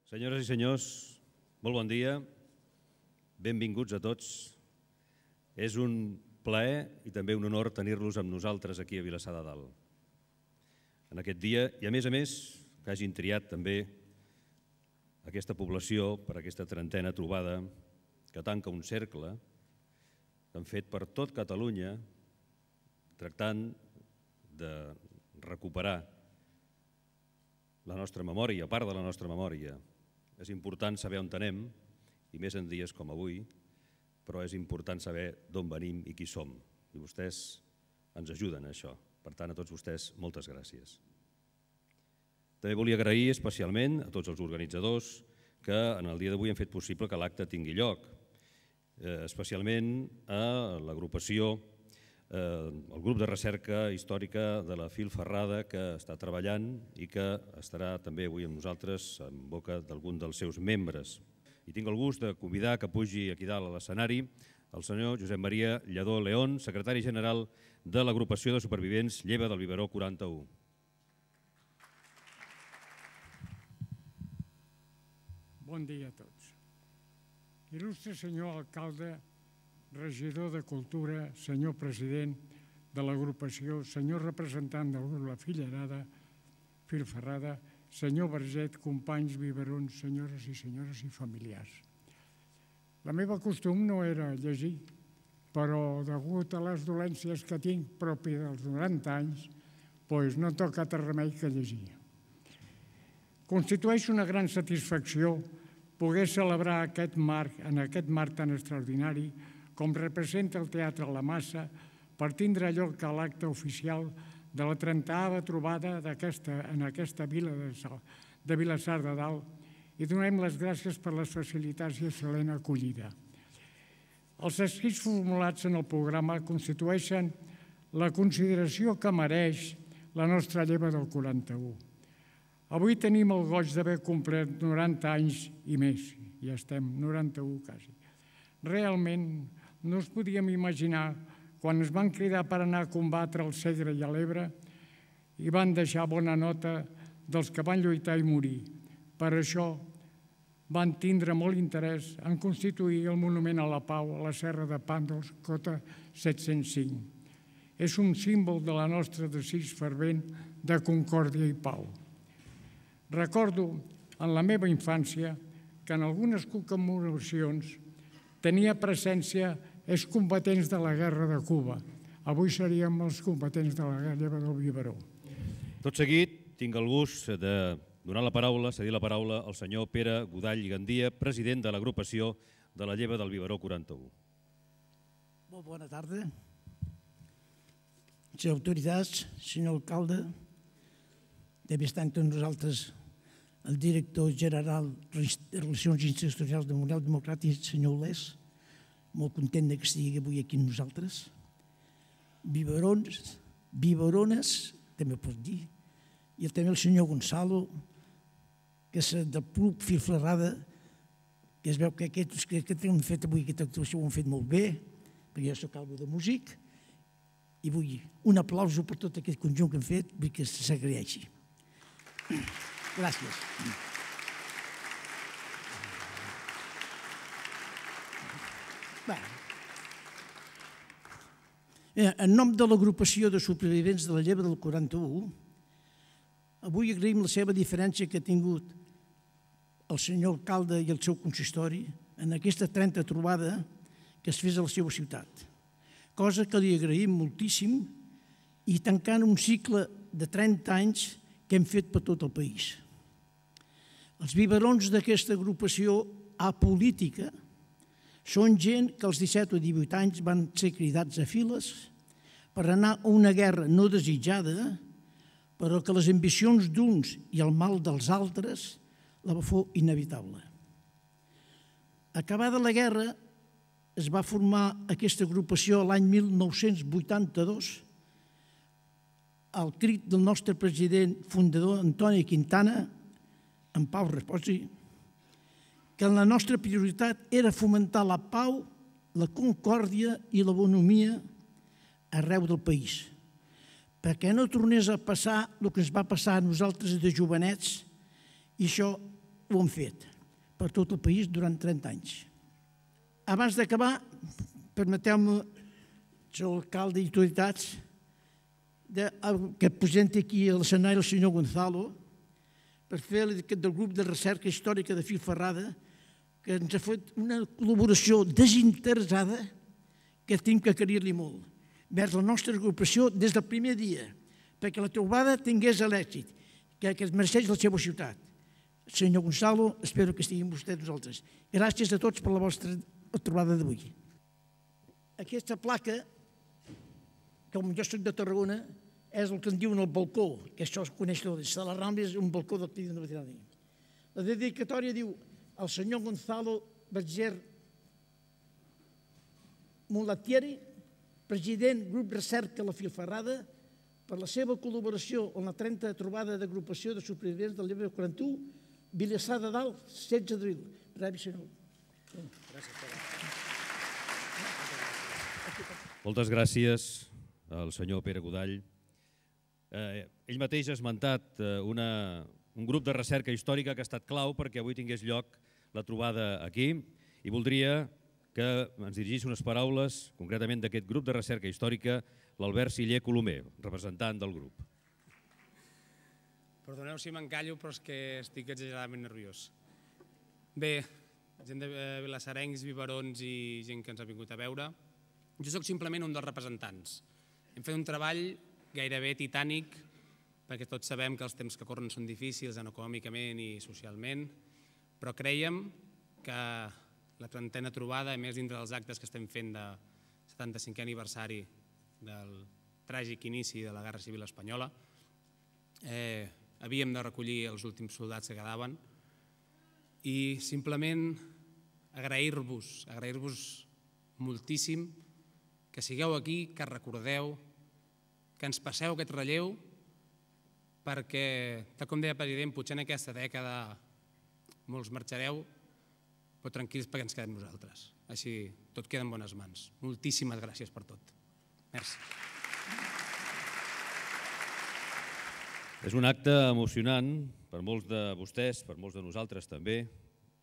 Senyores i senyors, molt bon dia, benvinguts a tots. És un plaer i també un honor tenir-los amb nosaltres aquí a Vilassar de Dalt. En aquest dia, i a més, que hagin triat també aquesta població per aquesta trentena trobada que tanca un cercle que han fet per tot Catalunya tractant de recuperar la nostra memòria, part de la nostra memòria. És important saber on anem, i més en dies com avui, però és important saber d'on venim i qui som. I vostès ens ajuden a això. Per tant, a tots vostès, moltes gràcies. També volia agrair especialment a tots els organitzadors que en el dia d'avui han fet possible que l'acte tingui lloc, especialment a l'agrupació, el grup de recerca històrica de la Fil Ferrada, que està treballant i que estarà també avui amb nosaltres en boca d'algun dels seus membres. I tinc el gust de convidar que pugi aquí dalt a l'escenari el senyor Josep Maria Lledó León, secretari general de l'agrupació de supervivents Lleva del Biberó 41. Bon dia a tots. Il·lustre senyor alcalde, regidor de Cultura, senyor president de l'agrupació, senyor representant del grup La Fillerada, Fil Ferrada, senyor Verget, companys, biberons, senyores i familiars. La meva costum no era llegir, però degut a les dolències que tinc propi dels 90 anys, doncs no toca altre remei que llegir. Constitueix una gran satisfacció poder celebrar en aquest marc tan extraordinari com representa el Teatre La Massa, per tindre lloc a l'acte oficial de la 30ª trobada en aquesta vila de Vilassar de Dalt i donem les gràcies per les facilitats i excel·lent acollida. Els escrits formulats en el programa constitueixen la consideració que mereix la nostra lleva del 41. Avui tenim el goig d'haver complert 90 anys i més, ja estem 91 quasi. Realment no ens podíem imaginar quan ens van cridar per anar a combatre al Segre i a l'Ebre i van deixar bona nota dels que van lluitar i morir. Per això van tindre molt interès en constituir el Monument a la Pau a la Serra de Pàndols, cota 705. És un símbol de la nostra desig fervent de concòrdia i pau. Recordo en la meva infància que en algunes commemoracions tenia presència els combatents de la Guerra de Cuba. Avui seríem els combatents de la Lleva del Biberó. Tot seguit, tinc el gust de donar la paraula, cedir la paraula al senyor Pere Godall i Gandia, president de l'agrupació de la Lleva del Biberó 41. Molt bona tarda. Senyors autoritats, senyor alcalde, també està entre nosaltres el director general de Relacions Institucionals del Model Democràtic, senyor Olés, molt content que estigui avui aquí amb nosaltres. Biberons, biberones, també pot dir, i també el senyor Gonzalo, que és del Club Fil Ferrada, que es veu que aquests que han fet avui aquesta actuació ho han fet molt bé, perquè jo soc algo de músic, i vull un aplauso per tot aquest conjunt que han fet, vull que s'agraeixi. Gràcies. En nom de l'agrupació de supervivents de la Lleva del 41, avui agraïm la seva diferència que ha tingut el senyor alcalde i el seu consistori en aquesta 30 trobada que es fes a la seva ciutat, cosa que li agraïm moltíssim i tancant un cicle de 30 anys que hem fet per tot el país. Els biberons d'aquesta agrupació apolítica són gent que als 17 o 18 anys van ser cridats a files per anar a una guerra no desitjada, però que les ambicions d'uns i el mal dels altres la va fer inevitable. Acabada la guerra, es va formar aquesta agrupació l'any 1982 al crit del nostre president fundador Antoni Quintana, en Pau Reposi, que la nostra prioritat era fomentar la pau, la concòrdia i la bonomia arreu del país, perquè no tornés a passar el que ens va passar a nosaltres de jovenets, i això ho han fet per tot el país durant 30 anys. Abans d'acabar, permeteu-me, senyor alcalde i autoritats, que presenti aquí a l'escenari el senyor Gonzalo per fer del grup de recerca històrica de Filferrada, que ens ha fet una col·laboració desinteressada que tinc que agrair-li molt vers la nostra agrupació des del primer dia, perquè la trobada tingués l'èxit que es mereixeix la seva ciutat. Senyor Gonzalo, espero que estiguin vostès nosaltres. Gràcies a tots per la vostra trobada d'avui. Aquesta placa, com jo soc de Tarragona, és el que en diuen el balcó, que això es coneix tot. De la Rambla és un balcó del Pidi de Veterani. La dedicatòria diu al senyor Gonzalo Berger Mulatieri, president grup recerca La Filferrada, per la seva col·laboració en la 30a trobada d'agrupació de supervivents del llibre 41, Vilassar de Dalt, 16 d'abril. Rebi, senyor. Moltes gràcies al senyor Pere Godall. Ell mateix ha esmentat un grup de recerca històrica que ha estat clau perquè avui tingués lloc la trobada aquí i voldria que ens dirigís unes paraules, concretament d'aquest grup de recerca històrica, l'Albert Siller Colomer, representant del grup. Perdoneu si m'encallo, però és que estic exageradament nerviós. Bé, gent de vilassarencs, biberons i gent que ens ha vingut a veure, jo sóc simplement un dels representants. Hem fet un treball gairebé titànic, perquè tots sabem que els temps que corren són difícils econòmicament i socialment, però creiem que la 30a trobada, a més dintre dels actes que estem fent de 75è aniversari del tràgic inici de la Guerra Civil Espanyola, havíem de recollir els últims soldats que quedaven i simplement agrair-vos moltíssim que sigueu aquí, que recordeu, que ens passeu aquest relleu, perquè, tal com deia el president, potser en aquesta dècada molts marxareu, però tranquils perquè ens quedem nosaltres. Així tot queda en bones mans. Moltíssimes gràcies per tot. Merci. És un acte emocionant per molts de vostès, per molts de nosaltres també,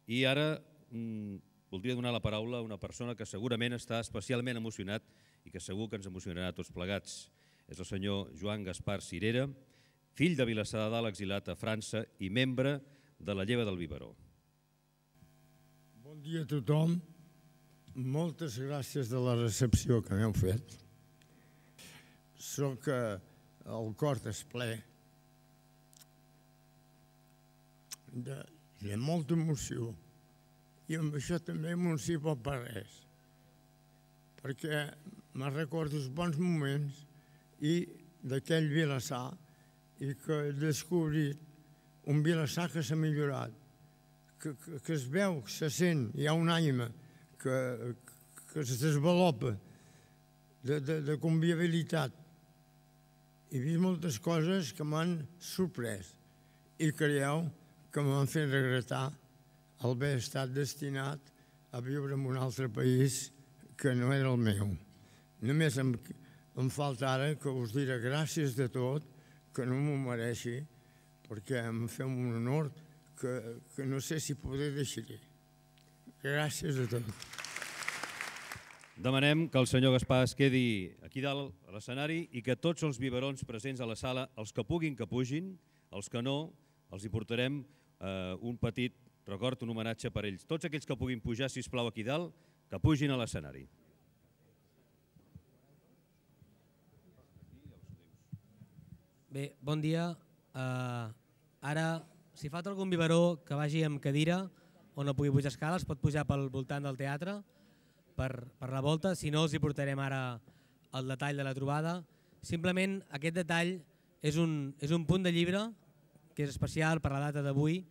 i ara voldria donar la paraula a una persona que segurament està especialment emocionat i que segur que ens emocionarà a tots plegats. És el senyor Joan Gaspar Cirera, fill de Vilassar de Dalt, exilat a França i membre de la Lleva del Biberó. Bon dia a tothom. Moltes gràcies de la recepció que m'heu fet. Soc el cor és ple de molta emoció i amb això també emoció per res, perquè me recordo els bons moments i d'aquell Vilassar i que he descobrit un Vilassar que s'ha millorat, que es veu, que se sent, hi ha una ànima que es desenvolupa de convivialitat. He vist moltes coses que m'han sorprès i creieu que m'han fet regretar haver estat destinat a viure en un altre país que no era el meu. Només em falta ara que us diré gràcies de tot, que no m'ho mereixi, perquè em feu un honor que no sé si podré deixar-hi. Gràcies a tot. Demanem que el senyor Gaspar es quedi aquí dalt a l'escenari i que tots els biberons presents a la sala, els que puguin que pugin, els que no, els hi portarem un petit record, un homenatge per ells. Tots aquells que puguin pujar, sisplau, aquí dalt, que pugin a l'escenari. Bé, bon dia. Ara, si falta algun biberó que vagi amb cadira o no pugui pujar escales, pot pujar pel voltant del teatre per la volta, si no els hi portarem ara el detall de la trobada. Simplement aquest detall és un punt de llibre que és especial per la data d'avui,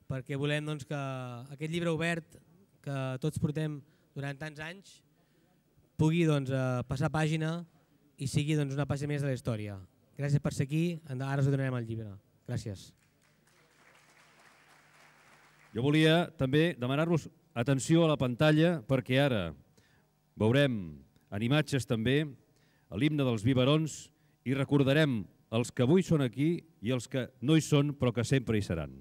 perquè volem que aquest llibre obert que tots portem durant tants anys pugui passar pàgina i sigui una pàgina més de la història. Gràcies per ser aquí, ara us donarem el llibre. Gràcies. Jo volia també demanar-vos atenció a la pantalla perquè ara veurem en imatges també l'himne dels biberons i recordarem els que avui són aquí i els que no hi són però que sempre hi seran.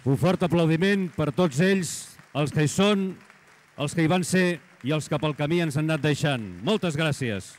Un fort aplaudiment per tots ells, els que hi són, els que hi van ser i els que pel camí ens han anat deixant. Moltes gràcies.